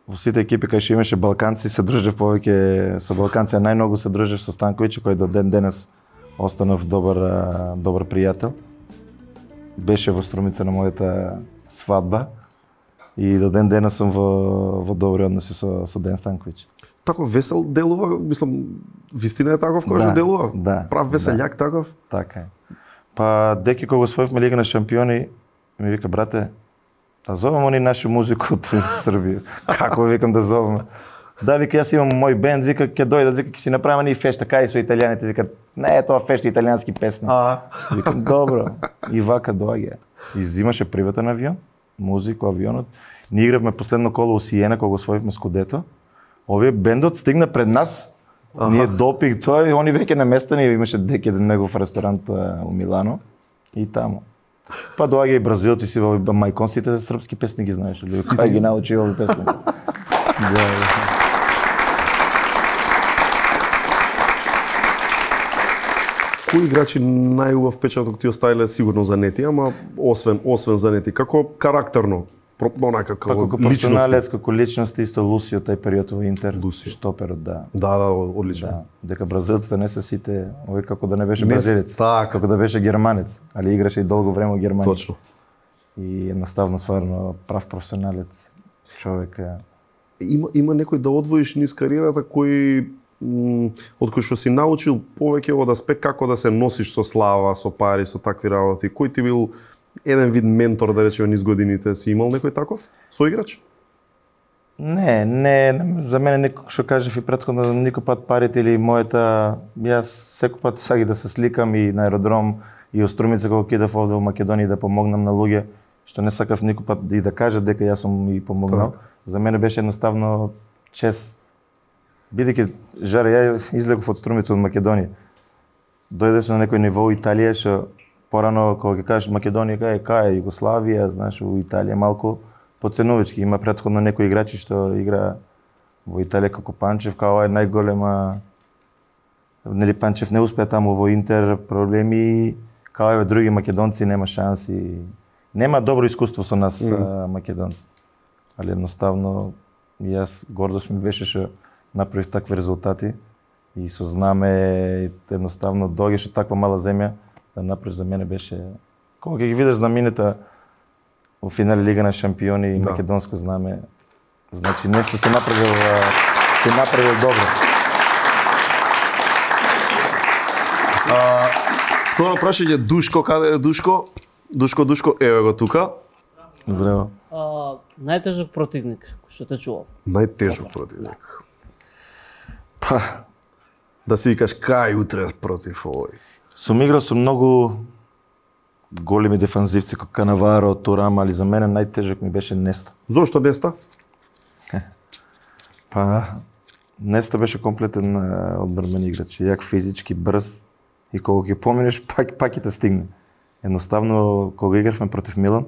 во сите екипи кај што имаше балканци, се дружев повеќе со балканци, а најмногу се дружев со Станковиќ, кој до ден денес останав добар пријател. Беше во Струмица на мојата свадба и до ден денес сум во добри односи со Ден Станковиќ. Тако весел делува, мислам, вистина е таков кој што делува? Да. Прав веселјак таков? Така е. Па деки кога освоивме Лига на шампиони, ми вика, брате, да зовем они нашу музику од Србија. Како викам да зовеме? Да, вика, јас имам мој бенд, вика, ќе дојдат, вика, ќе си направиме ни фешта, кај со италијаните, вика, не е тоа фешта, италијански песни. Викам, добро. И вака доаѓа. И взимаше приватен авион, музику, авионот. Ние игравме последно коло у Сиена, кога освоивме Скудето. Овие бендот стигна пред нас, ние допиг тоа и они веќе наместени, имаше деки еден негов ресторант у Милано и таму. Па доаѓа и Бразил, ти си во мајкон, сите српски песни ги знаеш, или кај ги научи овие песни. Кои играчи најубав впечаток ти оставиле сигурно за Нети, ама освен за Нети, како карактерно, онака како персоналец, како личност, исто Лусио тај период во Интер, шстоперот, да. Да, одлично. Да. Дека бразилците не се сите, овој како да не беше бразилец, како да беше германец, али играше и долго време во Германија. Точно. И едноставно стварно прав професионалец човек. Има некој да одвоиш низ кариерата кој од кој што си научил повеќе од аспект како да се носиш со слава, со пари, со такви работи. Кој ти бил еден вид ментор, да речеме, низ годините? Си имал некој таков соиграч? Не, за мене никој што кажав и претходно, никој пат парите или мојата, јас секој пат саги да се сликам и на аеродром и од Струмица кога кидав овде во Македонија да помогнам на луѓе што не сакав никој пат и да кажа дека јас сум и помогнал. За мене беше едноставно чест. Бидејќи Жаре, ја излегов од Струмица од Македонија. Дојдеш на некој ниво Италија, што порано кога ќе кажеш Македонија, кај е Југославија, знаеш, у Италија малку подценувачки. Има претходно некои играчи што игра во Италија како Панчев, као е најголема. Нели Панчев не успеа таму во Интер, проблеми, као еве други македонци нема шанси. Нема добро искуство со нас македонци. Али едноставно јас гордост ми беше што направив такви резултати и со знаме едноставно доаѓаш од таква мала земја да направиш, за мене беше кога ќе ги видиш знамените во финале Лига на шампиони и македонско знаме, значи нешто се направил добро. Второ прашање, Душко, каде е Душко? Душко, еве го тука. Здраво. Најтежок противник, што те чувам. Најтежок противник. Па, да си викаш кај утре против овој. Сум играл со многу големи дефанзивци како Канаваро, Турам, али за мене најтежок ми беше Неста. Зошто Неста? Па, Неста беше комплетен одбранбен играч, јак физички, брз и кога ќе поминеш пак ќе те стигне. Едноставно кога игравме против Милан,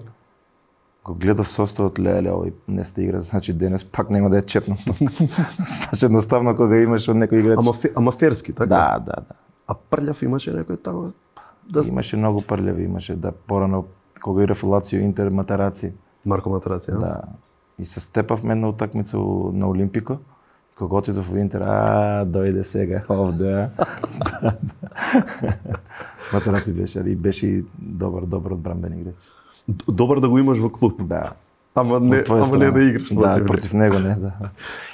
го гледав составот, леле, овој Неста игра, значи денес пак нема да ја чепнам. Значи едноставно кога имаш од некој играч. Ама ферски, така? Да. А прљав имаше некој тако? Имаше многу прљави, имаше порано кога играв Лацио, Интер, Матараци. Марко Матараци, да. И се степавме на утакмица на Олимпико. Кога отидов во Интер, дојде сега овде. Матараци беше и добар одбранбен играч. Добар да го имаш во клуб. Да. Ама не да играш против него, не, да.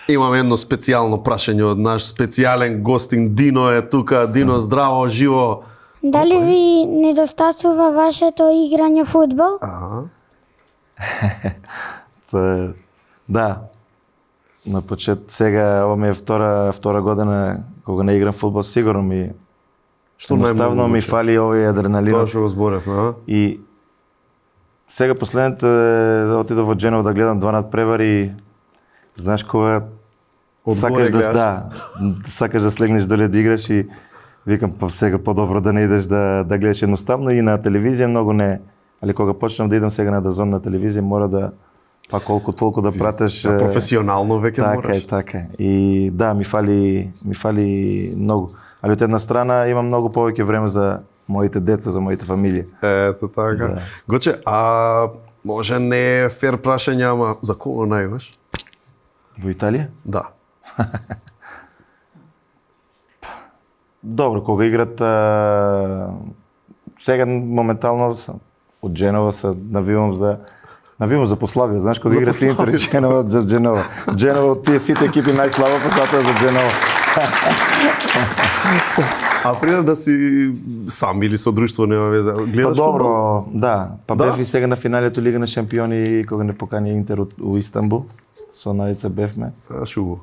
Имаме едно специјално прашање од наш специјален гостин Дино е тука. Дино, здраво, живо. Дали ви недостатува вашето играње фудбал? Да. На почет сега ова ми е втора година кога не играм фудбал, сигурно ми едноставно ми фали овој адреналин. Тоа што го зборевме, И сега последните отидов во Дженова да гледам 2 надпревари. Знаеш кога сакаш сакаш да слегнеш доле да играш и викам па сега подобро да не идеш да гледаш едноставно и на телевизија многу не. Али кога почнам да идам сега на Дазон на телевизија мора да па колку толку да пратеш професионално веќе мораш. Така е. И да, ми фали многу. Али од една страна имам многу повеќе време за моите деца, за моите фамилија. Ето така. Да. Гоче, може не е фер прашање, ама за кого најуваш? Во Италија? Да. Добро, кога играт сега моментално од Дженова се навивам за послабија, знаеш кога играт Интер и Дженова за Дженова. Дженова од тие сите екипи најслаба посата за Дженова. А пример да си сам или со друштво нема веза. Гледаш добро, да. Бев и сега на финалето Лига на шампиони кога не покани Интер у Истанбул. Со Најца бевме. Шубо.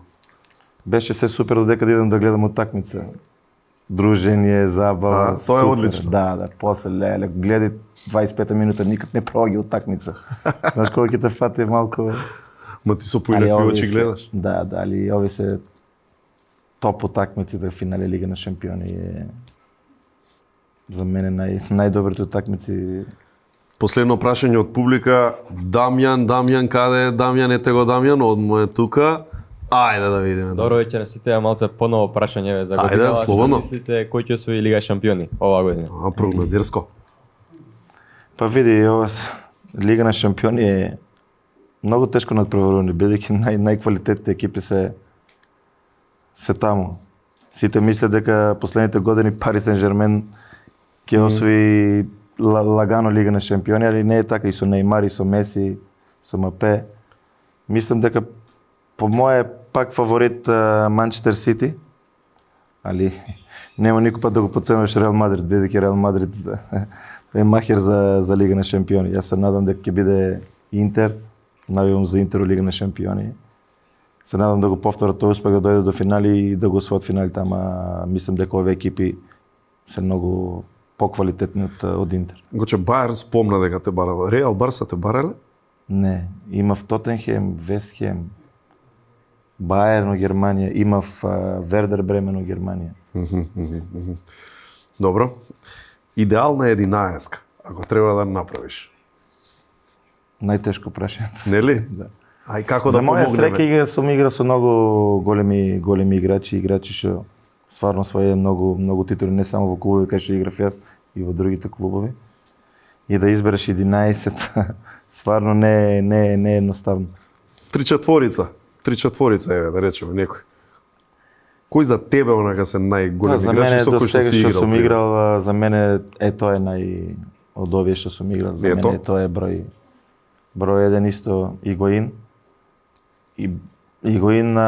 Беше се супер додека да идам да гледам утакмица. Дружење, забава. Тоа е одлично. Да, после леле, гледај 25 минута никак не проаѓа утакмица. Знаеш кога ќе те фати малку. Ма ти со поилепи очи гледаш. Да, али ови се топ утакмици да финале Лига на шампиони е за мене најдобрите утакмици. Последно прашање од публика. Дамјан, каде е Дамјан? Ете го Дамјан, одмо е тука. Ајде да видиме. Добро вечер, сите малце поново прашање за година. Што мислите кој ќе освои Лига шампиони оваа година? Прогнозирско. Па види, ова Лига на шампиони е многу тешко надпреварување, бидејќи најквалитетните екипи се таму. Сите мислат дека последните години Пари Сен-Жермен ќе освои лагано Лига на шампиони, али не е така и со Неймар, и со Меси, со Мапе. Мислам дека по моје пак фаворит Манчестер Сити, али нема никој пат да го подценуваш Реал Мадрид, бидејќи Реал Мадрид е махер за Лига на шампиони. Јас се надам дека ќе биде Интер, навивам за Интер Лига на шампиони. Се надам да го повторат тој успех, да дојде до финали и да го освојат финалите, ама мислам дека овие екипи се многу поквалитетни од Интер. Гоче Бајер спомна дека те барал. Реал Барса те барале? Не, имав Тотенхем, Вестхем, Бајерн од Германија, имав Вердер Бремен од Германија. Добро. Идеална 11, ако треба да направиш. Најтешко прашање. Нели? Да. Ај како да помогнеме? За моја среќа сум играл со многу големи играчи што стварно своје многу титули не само во клубови кај што играв јас и во другите клубови. И да избереш 11 стварно не е едноставно. 3-4 еве да речеме некој. Кој за тебе онака се најголеми играчи со кои што си играл? Што сум играл, за мене тоа е од овие што сум играл, за мене тоа е број 1 исто Игоин. Игоин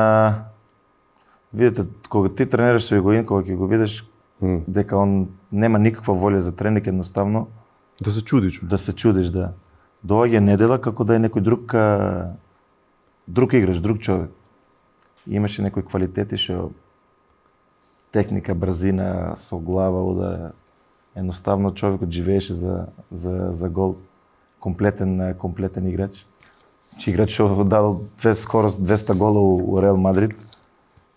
видите, кога ти тренираш со Игоин, кога ќе го видиш дека он нема никаква волја за тренинг, едноставно да се чудиш. Да се чудиш, да. Доаѓа недела како да е некој друг играч, друг човек. Имаше некои квалитети што техника, брзина, со глава удар. Едноставно човекот живееше за гол. Комплетен играч. Играч што дадол скоро 200 гола у Реал Мадрид.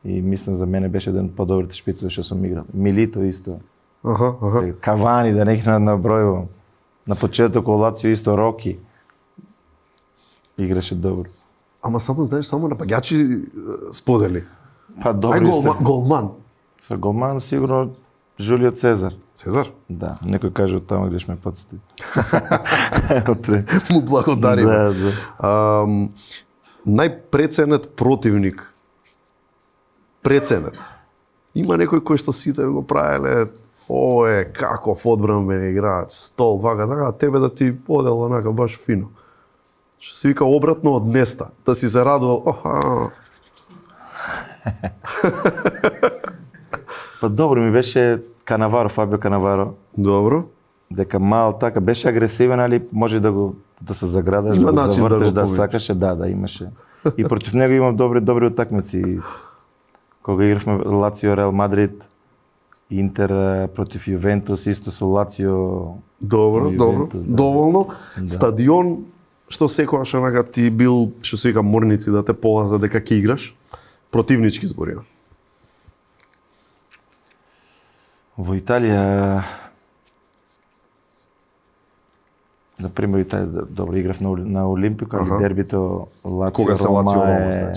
И мислам за мене беше еден од подобрите шпицови што сум играл. Милито исто. Кавани, да не ги набројувам. На почеток Лацио исто Роки. Играше добро. Ама само знаеш, само напаѓачи сподели. Па добри се. Голман. Со голман сигурно Жулио Цезар. Цезар? Да, некој каже од тама греш ме подсети. Му благодариме. Да. Најпреценет противник. Преценет. Има некој кој што сите го правеле, каков одбранбен играч, стол, вака, така, тебе да ти одел онака баш фино. Што се вика обратно од места, да си се радувал, Па добро ми беше Канаваро, Фабио Канаваро. Добро. Дека мал така беше агресивен, али може да се заградаш, да го завртеш, да сакаше, да имаше. И против него имам добри утакмици. Кога игравме Лацио Реал Мадрид, Интер против Јувентус, исто со Лацио. Добро, доволно. Стадион што секогаш онака ти бил, што се вика, морници да те полаза дека ќе играш, противнички зборија. Во Италија, например, добро играв на Олимпико, али дербито Лацио-Рома е...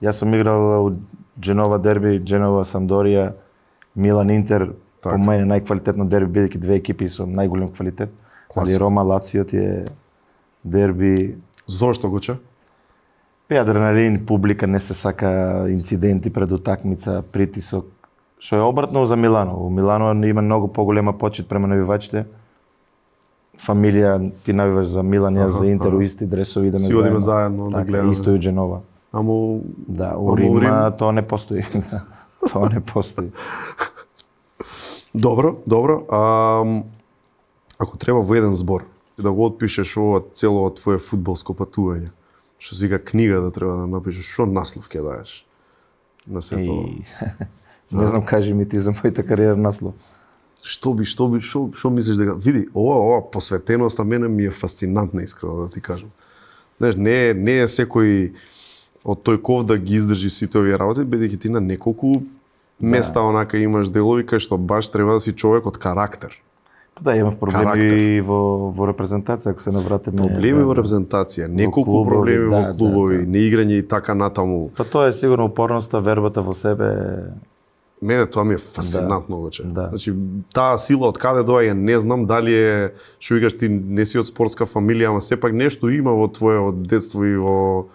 Јас сум играл Дженова дерби, Дженова Самдорија, Милан Интер, по мене најквалитетно дерби, бидејќи две екипи со најголем квалитет. Али Рома Лацио ти е дерби. Зошто го че? Адреналин, публика, не се сака инциденти пред утакмица, притисок. Што е обратно за Милано. У Милано има многу поголема почит према навивачите. Фамилија, ти навиваш за Милан, јас за Интер, у исти дресови идеме заедно. Си одиме заедно да гледаме. Исто и у Дженова. Да, у Рим тоа не постои. Тоа не постои. Добро. Ако треба во еден збор да го отпишеш ова цело твое фудбалско патување, што си вика книга да треба да напишеш, што наслов ќе даеш на сето? Не знам, кажи ми ти за мојата кариера наслов. Што мислиш дека види, ова посветеност на мене ми е фасцинантна, искрено да ти кажам. Знаеш, не е секој од тој ков да ги издржи сите овие работи, бидејќи ти на неколку места онака имаш делови кај што баш треба да си човек од карактер. Да, имав проблеми во репрезентација, ако се навратиме. Проблеми во репрезентација, неколку проблеми во клубови, неиграње и така натаму. Па тоа е сигурно упорноста, вербата во себе. Мене тоа ми е фасцинантно вече. Значи, таа сила од каде доаѓа, не знам дали е, што викаш ти не си од спортска фамилија, ама сепак нешто има во твоето детство и во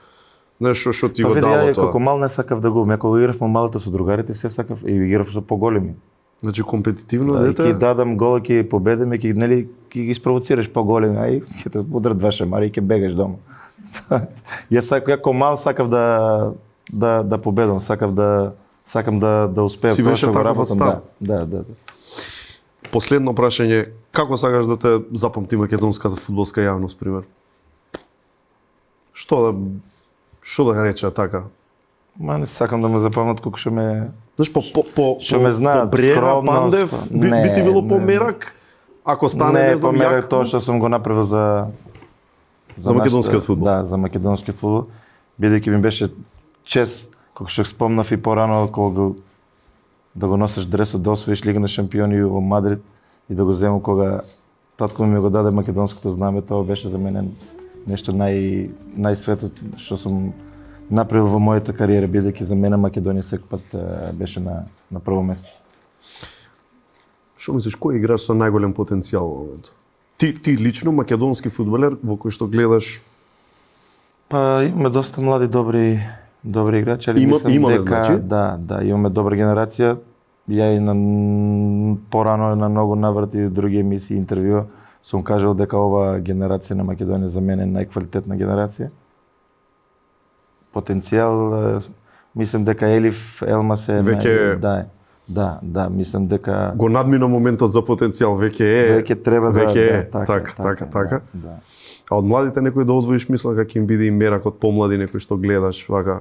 нешто што ти го дало тоа. Како мал не сакав да го, кога игравме малото со другарите, се сакав и играв со поголеми. Значи компетитивно дете. Ќе дадам гол, ќе победиме, ќе ги спровоцираш поголеми, ај ќе те удрат два шамари и ќе бегаш дома. Јас како мал сакав да победам, сакам да успеам тоа што го работам. Да. Последно прашање, како сакаш да те запамти македонската фудбалска јавност, пример? Што да рече така? Не сакам да ме запомнат колку што ме Знаеш, што ме знаат, Брера, Пандев, би ти било померак, ако стане, не знам, померак тоа што сум го направил за македонскиот фудбал. Да, за македонскиот фудбал, бидејќи ми беше чест, како што спомнав и порано, кога да го носиш дресот, да освоиш Лига на шампиони во Мадрид и да го земам кога татко ми го даде македонското знаме, тоа беше за мене нешто најсветот што сум направил во мојата кариера, бидејќи за мене Македонија секој пат беше на прво место. Што мислиш, кој играч со најголем потенцијал во моментот? Ти лично македонски фудбалер во кој што гледаш? Па имаме доста млади добри играчи, али мислам дека да, имаме добра генерација. Ја и порано на многу наврати и други емисии, интервјуа сум кажал дека ова генерација на Македонија за мене е најквалитетна генерација. Потенцијал, мислам дека Елиф Елмас е веќе да, мислам дека го надмина моментот за потенцијал, веќе треба така. А од младите некој да одвоиш, мислам дека им биде и мерак од помлади некој што гледаш вака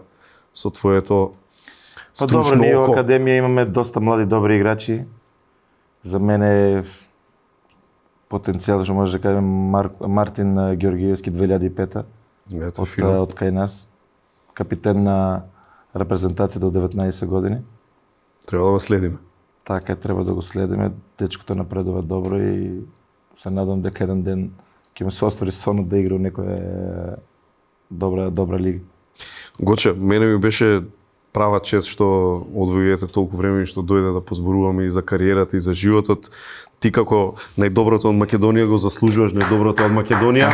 со твоето Па добро, ние во Академија имаме доста млади добри играчи. За мене потенцијал што може да кажем Мартин Георгиевски 2005 од кај нас. Капитен на репрезентацијата од 19 години. Треба да го следиме. Така, треба да го следиме. Дечкото напредува добро и се надам дека еден ден ќе му се остари сонот да игра во некоја добра лига. Гоче, мене ми беше права чест што одвојувате толку време и што дојде да позборуваме и за кариерата и за животот. Ти како најдоброто од Македонија го заслужуваш, најдоброто од Македонија.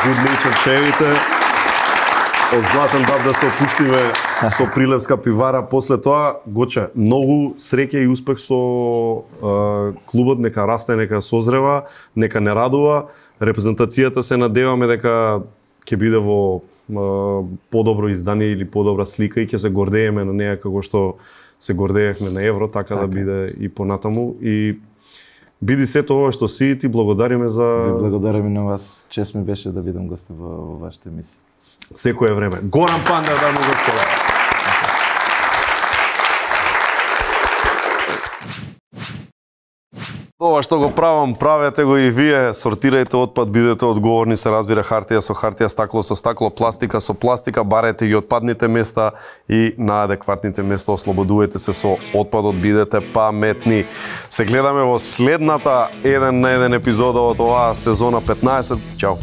Good nature чевите. Од Златен Даб да се опуштиме со Прилевска пивара. После тоа, Гоче, многу среќа и успех со клубот, нека расте, нека созрева, нека не радува. Репрезентацијата се надеваме дека ќе биде во подобро издание или подобра слика и ќе се гордееме на неа како што се гордеевме на Евро, така да биде и понатаму. И биди сето ова што си, ти благодариме за... Ви благодариме на вас. Чест ми беше да бидам гост во вашата емисија. Секое време. Горан Пандев, дами и господа. Ова што го правам, правете го и вие, сортирајте отпад, бидете одговорни, се разбира, хартија со хартија, стакло со стакло, пластика со пластика, барете ги отпадните места и на адекватните места ослободувајте се со отпадот, бидете паметни. Се гледаме во следната 1 на 1 епизода од оваа сезона 15. Чао!